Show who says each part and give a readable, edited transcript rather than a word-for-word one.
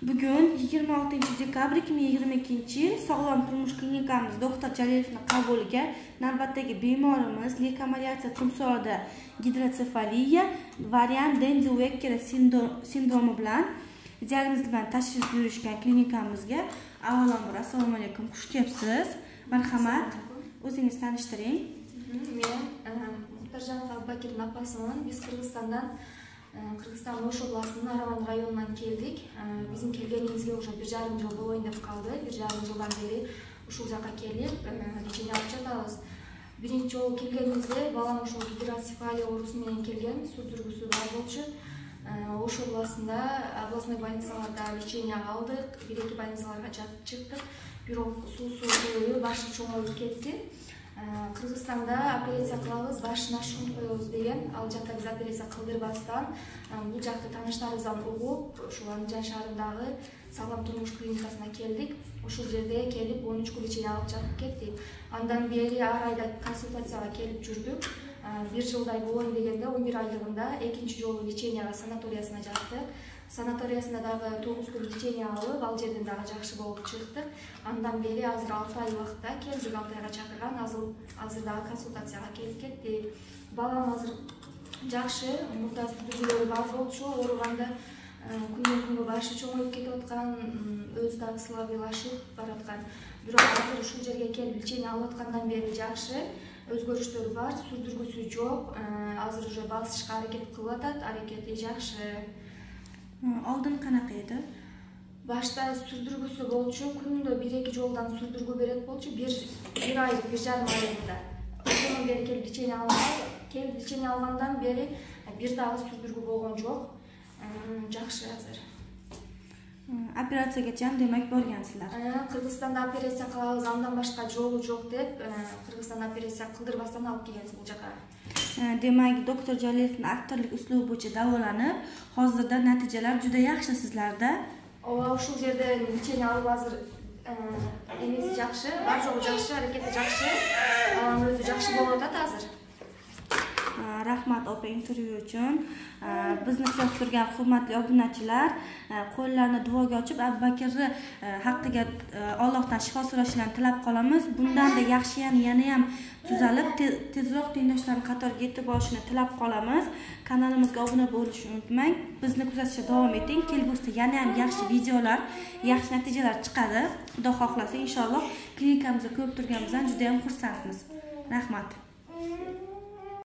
Speaker 1: Bugün 26 dekabr 2022 Sog'lom turmush klinikamiz doktor Jalilevning qabuliga navbatdagi bemorimiz lekamaliatsiya timsolida gidrotsefaliya variant Denzi-Wecker sindromi bilan diagnoz bilan tashrif buyurishgan klinikamizga avvalambor assalomu alaykum, xush kelibsiz. Marhamat, o'zingizni tanishtiring.
Speaker 2: Men Muhtarjanov Abubakirning opasiman. Biz Kırgızstan Oş oblastının Aravan rayonundan keldik. Bizim kelgenimizge уже 1,5 жыл болойын деп калды. 1,5 жылдан бери ушул жака келип, лечение алып жатабыз. Биринчи жолу келгенибизде балам ушул гидроцефалия оорусу менен келген, сүрдүргүсү бар болчу. Ош областында областной больницаларда лечение алдык, 1-2 больницаларга чыктык. Бирок суусу көбөйүп, башы чоңоюп кетти. Кыргызстанда операция кылабыз, башына шунт коебуз деген. Ал жакта биз операция кылдырбастан бул жакты тааныштарыбыздан угуп, ушул Андижан шаарындагы Сог'лом турмуш клиникасына келдик. Ушул жерде келип 13 күн лечение алып жатып кеттик. Андан бери ар айда консультацияга келип жүрдүк. 1 жылдай болойн дегенде 11 айлыгында экинчи жолу леченияга санаториясына жаттык. Санаториясында дагы 9 күн лечение алып, ал жерден дагы жакшы болуп чыктык. Андан бери азыр 6 ай убакытта келдик, 6 айга чакырган, азыр дагы консультацияга келип кеттик. Балам азыр жакшы, мурда сүрдүргүлөрү бар болчу, ооруганда күндөн күнгө башы чоңоюп кетип аткан, өзү дагы слабыйлашып бараткан. Бирок азыр ушул жерге келип лечение алып аткандан бери жакшы, өзгөрүштөр бар, сүрдүргүсү жок. Азыр уже басышка аракет кылып атат, аракети жакшы.
Speaker 1: Алдын канака эди?
Speaker 2: Башта сүрдүргүсү болчу, күндө 1-2 жолдан сүрдүргү берет болчу, 1 ай, 1,5 айында. Ошондон бери келип лечение алгандан бери бир дагы сүрдүргү болгон жок. Жакшы азыр.
Speaker 1: Операцияга жан демек боргансыздар.
Speaker 2: Кыргызстанда операция кылабыз, андан башка жолу жок деп, Кыргызстанда операция кылдырбастан алып келебиз бул жака.
Speaker 1: Demek Doktor Jalilevning aktorlik uslubi bo'yicha davolanib, hozirda natijalar juda yaxshi sizlarda.
Speaker 2: Ушул жерде лечение алып азыр эмеси жакшы, бар жолу жакшы, аракети жакшы. Балам өзү жакшы болуп атат азыр.
Speaker 1: Rahmat opa intervyu uchun. Bizni kuzatib turgan hurmatli obunachilar, qo'llarni duoga ochib Abubakirni haqqiga Allohdan shifo so'rashlarini tilab qolamiz. Bundan-da yaxshi yana ham tuzalib, tezroq tengdoshlarning qatoriga yetib borishini tilab qolamiz. Kanalimizga obuna bo'lishni unutmang. Bizni kuzatishda davom eting. Kelgusida yana ham yaxshi videolar, yaxshi natijalar chiqadi. Xudo xohlasa inshaalloh klinikamizda ko'rib turganimizdan juda ham xursandmiz. Rahmat.